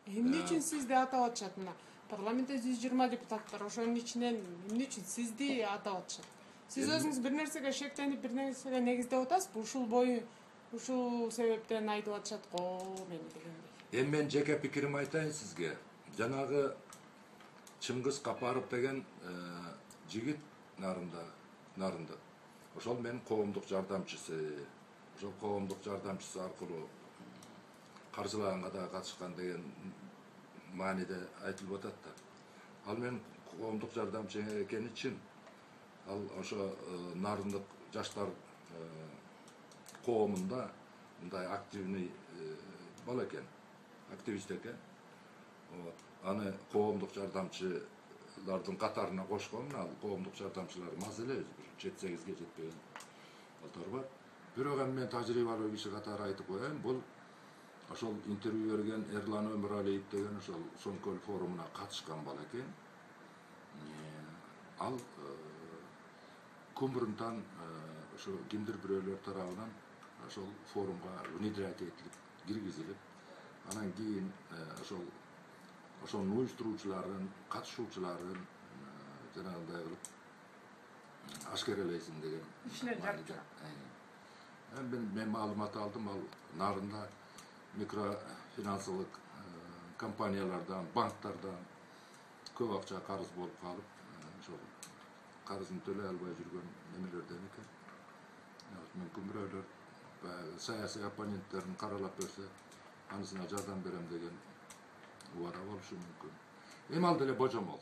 Эмне үчүн сизди атап атышат? Мына парламентте 120 депутат бар. Ошонун ичинен эмне үчүн сизди атап атышат? Сиз өзүңүз бир нерсеге шектенип, бир нерсеге негиздеп атасызбы? Ушул себептен айтып атышат го мени дегендей. Эми мен жеке пикирим айтайын сизге. Жанагы Чыңгыз Капаров деген жигит нарында. Ошол менин коомдук жардамчысы. Ошол коомдук жардамчысы аркылуу каржылаганга да катышкан деген мааниде айтылып атат да. Ал менин коомдук жардамчы экени чын. Ал ошо нарындык жаштар коомунда мындай активный бала экен, активист экен. Аны коомдук жардамчылардын катарына кошкон, ал коомдук жардамчылар маз эле, 7-8ге жетпеген балдар бар. Бирок эми мен тажрыйбалуу киши катары айтып коеюн, бул ошол интервью берген Эрлан Өмүралиев деген ошол Соңкөл форумуна катышкан бала экен. Ал күн ошо кимдир бирөөлөр тарабынан ошол форумга внедрять этилип, киргизилип, анан кийин ошонун уюштуруучуларын, катышуучуларын жанагындай кылып ашкерелейсиң деген ишлер жатчу. Мен маалымат алдым, ал нарында микрофинансылык компаниялардан, банктардан көп акча карыз болуп калып, ошол карызын төлөй албай жүргөн немелерден экен. Мүмкүн бирөөлөр баягы саясий оппоненттерин каралап көрсө, анысына жардам берем деген убада болушу мүмкүн. Эми ал деле божомол.